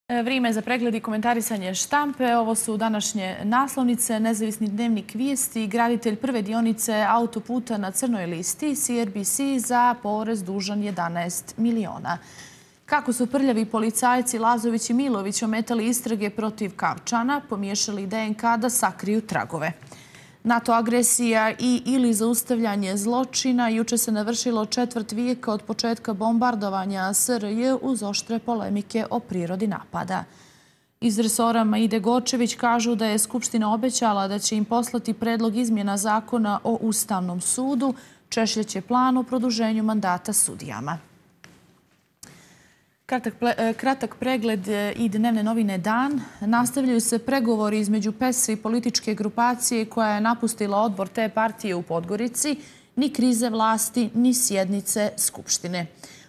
Vrijeme za pregled i komentarisanje štampe. Ovo su današnje naslovnice. Nezavisni dnevnik Vijesti, graditelj prve dionice autoputa na crnoj listi, CRBC za porez dužan 11 miliona. Kako su prljavi policajci Lazović i Milović ometali istrage protiv Kavčana, pomiješali DNK da sakriju tragove. NATO agresija i ili zaustavljanje zločina juče se navršilo četvrt vijeka od početka bombardovanja SRJ uz oštre polemike o prirodi napada. Iz resora Maide Gorčević kažu da je Skupština obećala da će im poslati predlog izmjena zakona o Ustavnom sudu, češljaće plan o produženju mandata sudijama. Kratak pregled i dnevne novine Dan. Nastavljaju se pregovori između PES i političke grupacije koja je napustila odbor te partije u Podgorici, ni krize vlasti, ni sjednice Skupštine.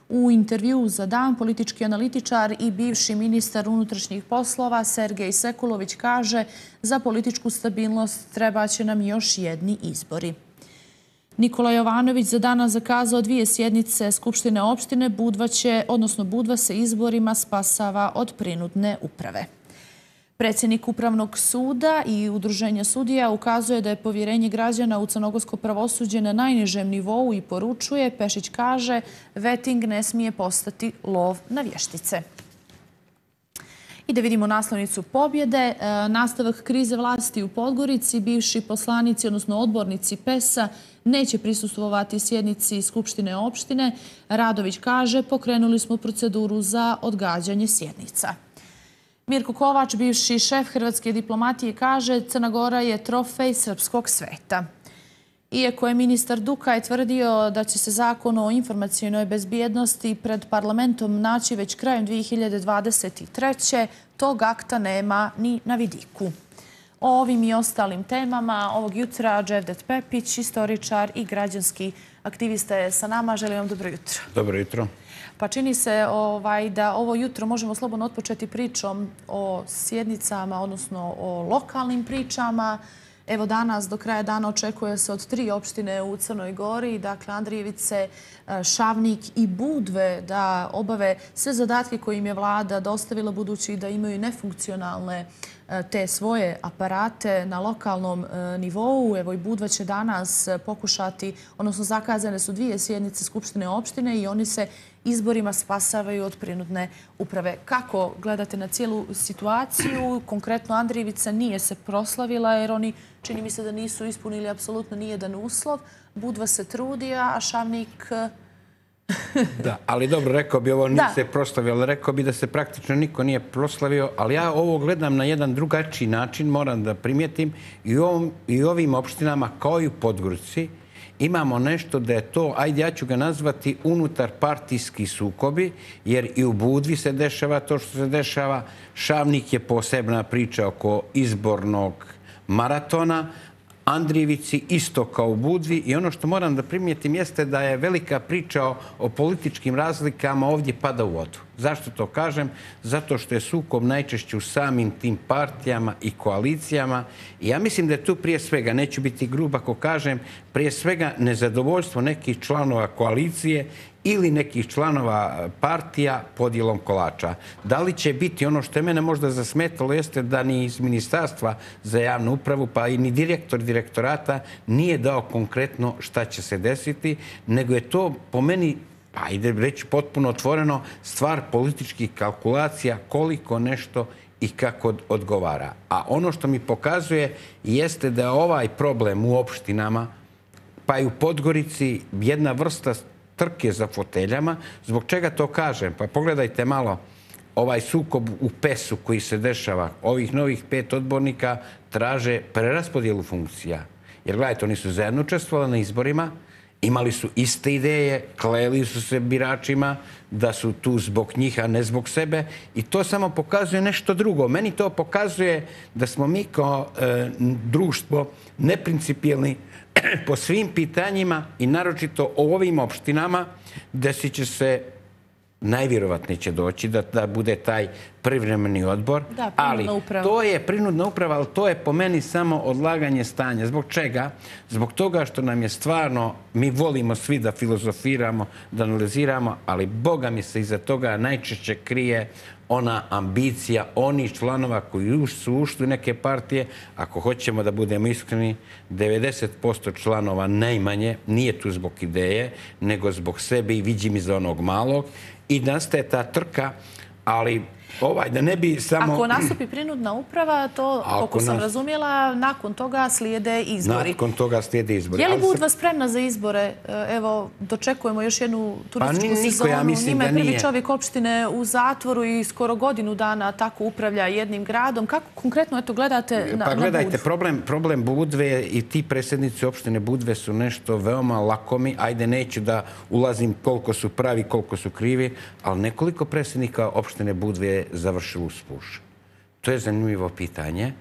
U intervjuu za Dan politički analitičar i bivši ministar unutrašnjih poslova Sergej Sekulović kaže: za političku stabilnost trebaće nam još jedni izbori. Nikola Jovanović za danas zakazao 2 sjednice Skupštine opštine. Budva se izborima spasava od prinudne uprave. Predsjednik Upravnog suda i Udruženja sudija ukazuje da je povjerenje građana u crnogorsko pravosuđe na najnižem nivou i poručuje, Pešić kaže, veting ne smije postati lov na vještice. I da vidimo naslovnicu pobjede. Nastavak krize vlasti u Podgorici. Bivši poslanici, odnosno odbornici PES-a, neće prisustvovati sjednici Skupštine opštine. Radović kaže, pokrenuli smo proceduru za odgađanje sjednica. Mirko Kovač, bivši šef hrvatske diplomatije, kaže, Crna Gora je trofej srpskog sveta. Iako je ministar Dukaj tvrdio da će se zakon o informacionoj bezbjednosti pred parlamentom naći već krajem 2023. tog akta nema ni na vidiku. O ovim i ostalim temama ovog jutra Dževdet Pepić, istoričar i građanski aktivista je sa nama. Želim vam dobro jutro. Dobro jutro. Pa čini se da ovo jutro možemo slobodno otpočeti pričom o sjednicama, odnosno o lokalnim pričama. Evo danas do kraja dana očekuje se od 3 opštine u Crnoj Gori, dakle Andrijevice, Šavnik i Budve, da obave sve zadatke koje im je vlada dostavila, budući da imaju nefunkcionalne te svoje aparate na lokalnom nivou. Evo i Budva će danas pokušati, odnosno zakazane su 2 sjednice Skupštine opštine i oni se izborima spasavaju od prinudne uprave. Kako gledate na cijelu situaciju? Konkretno Andrijevica nije se proslavila jer oni, čini mi se, da nisu ispunili apsolutno nijedan uslov. Budva se trudi, a Šavnik... Da, ali dobro, rekao bi, ovo nije se proslavio, ali rekao bi da se praktično niko nije proslavio, ali ja ovo gledam na jedan drugačiji način, moram da primijetim, i u ovim opštinama, kao i u Podgorici, imamo nešto da je to, ajde ja ću ga nazvati, unutar partijski sukobi, jer i u Budvi se dešava to što se dešava. Šavnik je posebna priča oko izbornog maratona, Andrijevici isto kao u Budvi, i ono što moram da primijetim jeste da je velika priča o političkim razlikama ovdje pada u vodu. Zašto to kažem? Zato što je sukob najčešće u samim tim partijama i koalicijama i ja mislim da je tu prije svega, neću biti grub ako kažem, prije svega nezadovoljstvo nekih članova koalicije ili nekih članova partija podjelom kolača. Da li će biti ono što je mene možda zasmetalo jeste da ni iz Ministarstva za javnu upravu pa i ni direktor direktorata nije dao konkretno šta će se desiti, nego je to po meni, pa ide reći potpuno otvoreno, stvar političkih kalkulacija koliko nešto i kako odgovara. A ono što mi pokazuje jeste da je ovaj problem u opštinama, pa i u Podgorici, jedna vrsta trke za foteljama. Zbog čega to kažem? Pa pogledajte malo ovaj sukob u PES-u koji se dešava. Ovih novih 5 odbornika traže preraspodjelu funkcija. Jer gledajte, oni su zajedno učestvovali na izborima, imali su iste ideje, kleli su se biračima da su tu zbog njih, a ne zbog sebe. I to samo pokazuje nešto drugo. Meni to pokazuje da smo mi kao društvo neprincipijelni po svim pitanjima i naročito o ovim opštinama desit će se, najvjerovatnije će doći da bude taj privremeni odbor. Ali to je prinudna uprava, ali to je po meni samo odlaganje stanja. Zbog čega? Zbog toga što nam je stvarno, mi volimo svi da filozofiramo, da analiziramo, ali Boga mi se iza toga najčešće krije ona ambicija onih članova koji su ušli u neke partije. Ako hoćemo da budemo iskreni, 90% članova najmanje nije tu zbog ideje, nego zbog sebe i viđim iza onog malog. I nastaje ta trka, ali da ne bi samo... Ako nastupi prinudna uprava, to, koliko sam razumjela, nakon toga slijede izbori. Nakon toga slijede izbori. Je li Budva spremna za izbore? Evo, dočekujemo još jednu turističku sezonu. Njima je prvi čovjek opštine u zatvoru i skoro godinu dana tako upravlja jednim gradom. Kako konkretno gledate na Budvu? Pa gledajte, problem Budve i ti predsjednici opštine Budve su nešto veoma lakomi. Ajde, neću da ulazim koliko su pravi, koliko su krivi, ali nekoliko predsjednika opštine Budve završilo u spuš. To je zanimljivo pitanje.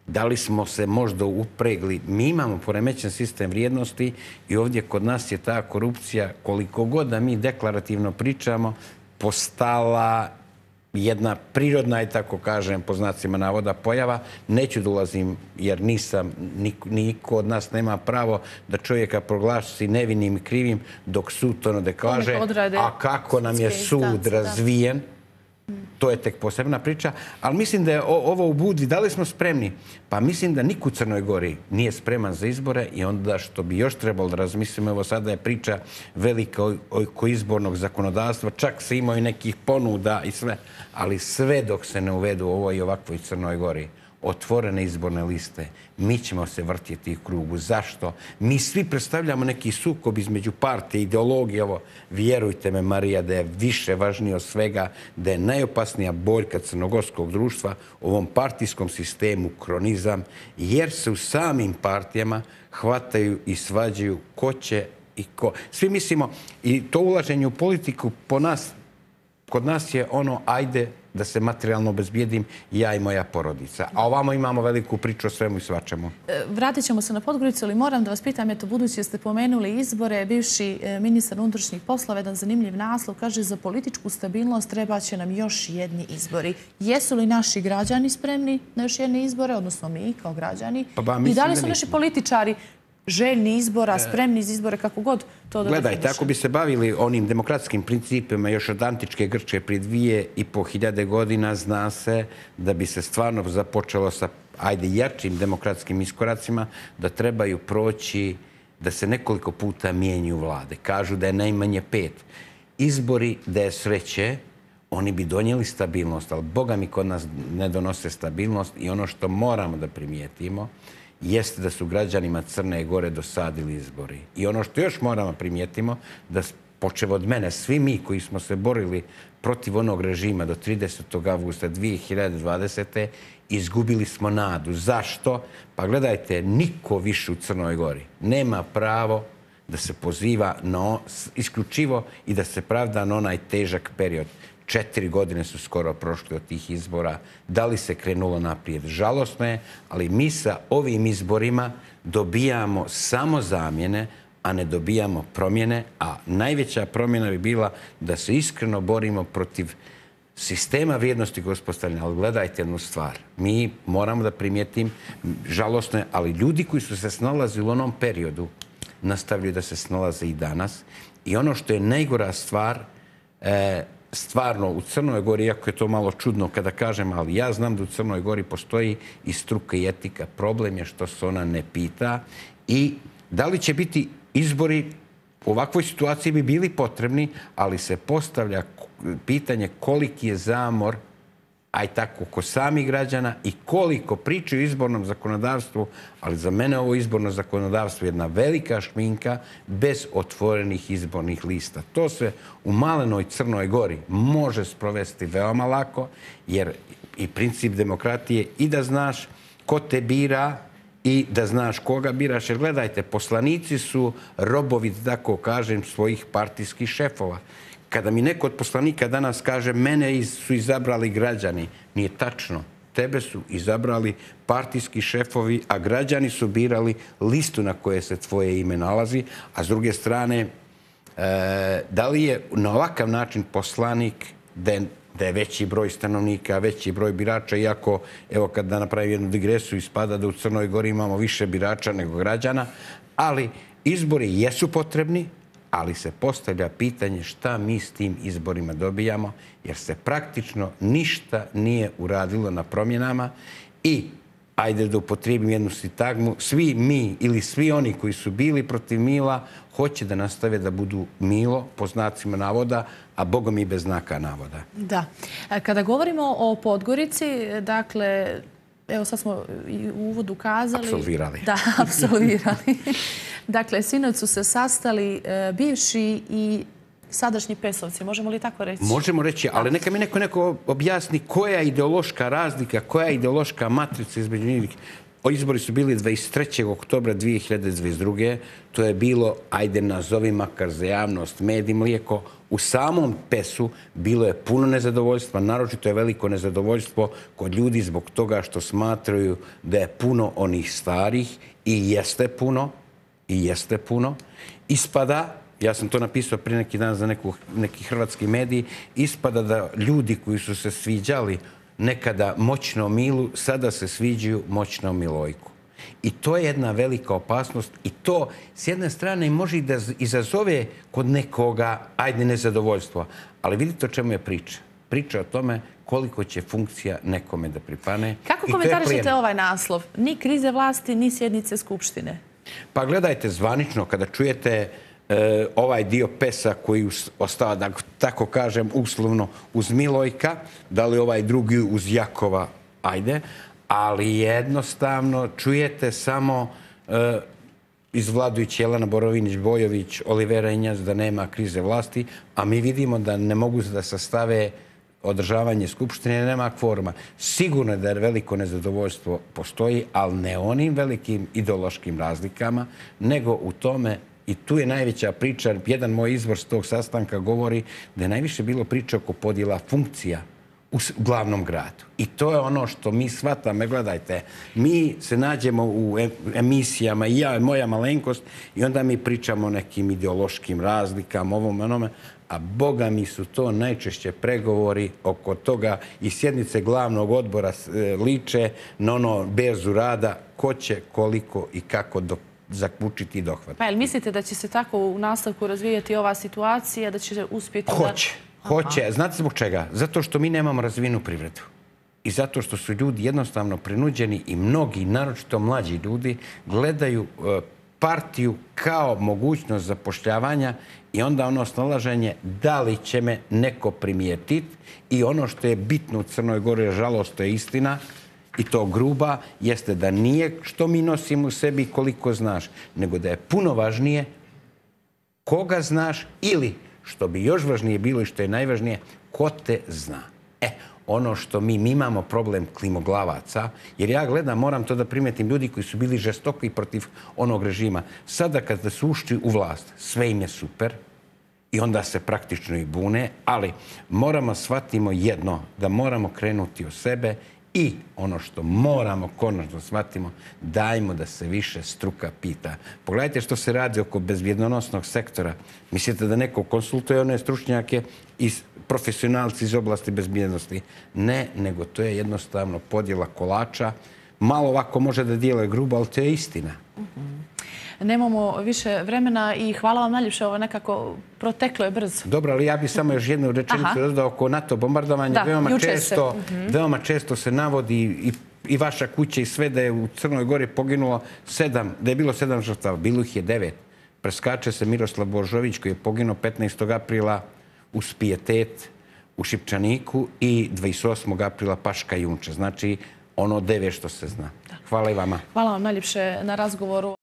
Da li smo se možda upregli? Mi imamo poremećen sistem vrijednosti i ovdje kod nas je ta korupcija, koliko god da mi deklarativno pričamo, postala jedna prirodna, i tako kažem, po znacima navoda, pojava. Neću da ulazim, jer niko od nas nema pravo da čovjeka proglasi nevinim i krivim dok sud to ne kaže. A kako nam je sud razvijen, to je tek posebna priča, ali mislim da je ovo u Budvi. Da li smo spremni? Pa mislim da niko u Crnoj Gori nije spreman za izbore i onda što bi još trebalo da razmislimo, evo sada je priča velika oko izbornog zakonodavstva, čak se imaju nekih ponuda i sve, ali sve dok se ne uvedu ovo i ovakvoj Crnoj Gori, otvorene izborne liste, mi ćemo se vrtjeti u krugu. Zašto? Mi svi predstavljamo neki sukob između partije, ideologije. Ovo, vjerujte me, Marija, da je više važnije od svega, da je najopasnija boljka crnogorskog društva u ovom partijskom sistemu kronizam, jer se u samim partijama hvataju i svađaju ko će i ko. Svi mislimo, i to ulaženje u politiku kod nas je ono, ajde da se materijalno obezbijedim ja i moja porodica. A ovamo imamo veliku priču o svemu i svačemu. Vratit ćemo se na Podgoricu, ali moram da vas pitam, eto, budući ste pomenuli izbore, bivši ministar unutrašnjih poslova, jedan zanimljiv naslov, kaže za političku stabilnost treba će nam još jedni izbori. Jesu li naši građani spremni na još jedne izbore, odnosno mi kao građani? I da li su naši političari željni izbora, spremni za izbore, kako god to da definiše? Gledajte, ako bi se bavili onim demokratskim principima još od antičke Grčke prije 2500 godina, zna se da bi se stvarno započelo sa, jačim demokratskim iskoracima, da trebaju proći, da se nekoliko puta mijenju vlade. Kažu da je najmanje 5. Izbori, da je sreće, oni bi donijeli stabilnost, ali Boga mi kod nas ne donose stabilnost i ono što moramo da primijetimo jeste da su građanima Crne Gore dosadili izbori. I ono što još moramo primijetimo, da počev od mene, svi mi koji smo se borili protiv onog režima do 30. avgusta 2020. izgubili smo nadu. Zašto? Pa gledajte, niko više u Crnoj Gori nema pravo da se poziva isključivo i da se pravda na onaj težak period. 4 godine su skoro prošli od tih izbora. Da li se krenulo naprijed? Žalosno je, ali mi sa ovim izborima dobijamo samo zamjene, a ne dobijamo promjene, a najveća promjena bi bila da se iskreno borimo protiv sistema vrijednosti koje uspostavljanja. Ali gledajte jednu stvar. Mi moramo da primijetim, žalosno je, ali ljudi koji su se snalazili u onom periodu nastavljaju da se snalaze i danas. I ono što je najgora stvar, stvarno u Crnoj Gori, iako je to malo čudno kada kažem, ali ja znam da u Crnoj Gori postoji i struka i etika. Problem je što se ona ne pita i da li će biti izbori u ovakvoj situaciji bi bili potrebni, ali se postavlja pitanje koliki je zamor, a i tako kod samih građana i koliko pričaju o izbornom zakonodavstvu, ali za mene ovo izborno zakonodavstvo je jedna velika šminka bez otvorenih izbornih lista. To se u malenoj Crnoj Gori može sprovesti veoma lako, jer i princip demokratije i da znaš ko te bira i da znaš koga biraš. Jer gledajte, poslanici su robovi, tako kažem, svojih partijskih šefova. Kada mi neko od poslanika danas kaže mene su izabrali građani, nije tačno. Tebe su izabrali partijski šefovi, a građani su birali listu na koje se tvoje ime nalazi. A s druge strane, da li je na ovakav način poslanik, da je da je veći broj stanovnika, veći broj birača, iako, evo, kad da napravim jednu digresiju, ispada da u Crnoj Gori imamo više birača nego građana, ali izbori jesu potrebni, ali se postavlja pitanje šta mi s tim izborima dobijamo, jer se praktično ništa nije uradilo na promjenama i, ajde da upotrijebim jednu sintagmu, svi mi ili svi oni koji su bili protiv Mila hoće da nastave da budu Milo, po znacima navoda, a Bogom i bez znaka navoda. Da. Kada govorimo o Podgorici, dakle, evo sad smo i u uvodu kazali... Apsolvirali. Da, apsolvirali. Dakle, sinoć su se sastali bivši i sadašnji pesovci. Možemo li tako reći? Možemo reći, ali neka mi neko objasni koja je ideološka razlika, koja je ideološka matrica između njih. Izbori su bili 23. oktobra 2022. To je bilo, ajde nazovi makar za javnost, med i mlijeko. U samom PES-u bilo je puno nezadovoljstva, naročito je veliko nezadovoljstvo kod ljudi zbog toga što smatraju da je puno onih starih i jeste puno. Ispada, ja sam to napisao prije neki dan za neki hrvatski mediji, ispada da ljudi koji su se sviđali nekada moćnom Milu, sada se sviđaju moćnom Milojku. I to je jedna velika opasnost i to s jedne strane može da izazove kod nekoga, ajde, nezadovoljstvo. Ali vidite o čemu je priča. Priča o tome koliko će funkcija nekome da pripane. Kako komentarišete ovaj naslov? Ni krize vlasti, ni sjednice Skupštine. Pa gledajte, zvanično, kada čujete ovaj dio PES-a koji ostava, da tako kažem, uslovno uz Milojka, da li ovaj drugi uz Jakova, ajde, ali jednostavno čujete samo iz vladajući Jelena Borovinić-Bojović, Olivera Injac da nema krize vlasti, a mi vidimo da ne mogu da sastave održavanje Skupštine, nema kvoruma. Sigurno je da veliko nezadovoljstvo postoji, ali ne onim velikim ideološkim razlikama, nego u tome. I tu je najveća priča. Jedan moj izvor s tog sastanka govori da je najviše bilo priča oko podjela funkcija u glavnom gradu. I to je ono što mi shvatamo. Gledajte, mi se nađemo u emisijama, i ja i moja malenkost, i onda mi pričamo o nekim ideološkim razlikama, ovom, onome, a Boga mi su to najčešće pregovori oko toga i sjednice glavnog odbora liče na ono berzu rada ko će, koliko i kako zaključiti i dohvatiti. Pa jel mislite da će se tako u nastavku razvijati ova situacija, da će uspjeti da... Hoće. Znate zbog čega? Zato što mi nemamo razvijenu privredu. I zato što su ljudi jednostavno prinuđeni i mnogi, naročito mlađi ljudi, gledaju partiju kao mogućnost zapošljavanja i onda ono snalaženje da li će me neko primijetiti i ono što je bitno u Crnoj Gori, žalost, to je istina, i to gruba, jeste da nije što mi nosimo u sebi i koliko znaš, nego da je puno važnije koga znaš ili, što bi još važnije bilo i što je najvažnije, ko te zna. Ono što mi imamo problem klimoglavaca, jer ja gledam, moram to da primetim, ljudi koji su bili žestoki protiv onog režima. Sada kada su ušli u vlast, sve im je super i onda se praktično i bune, ali moramo shvatimo jedno, da moramo krenuti od sebe i ono što moramo konačno shvatimo, dajmo da se više struka pita. Pogledajte što se radi oko bezbjednosnog sektora. Mislite da neko konsultuje one stručnjake i profesionalci iz oblasti bezbjednosti? Ne, nego to je jednostavno podjela kolača. Malo ovako može da dijele grubo, ali to je istina. Nemamo više vremena i hvala vam najljepše, ovo nekako proteklo je brzo. Dobro, ali ja bih samo još jednu rečenicu dodao oko NATO bombardovanja. Veoma često se navodi i vaša kuća i sve da je u Crnoj Gori poginulo 7, da je bilo 7 žrtava, bilo ih je 9. Preskače se Miroslav Božović koji je poginuo 15. aprila u Spijetet u Šipčaniku i 28. aprila Paška Junče. Znači ono 9 što se zna. Hvala i vama. Hvala vam najljepše na razgovoru.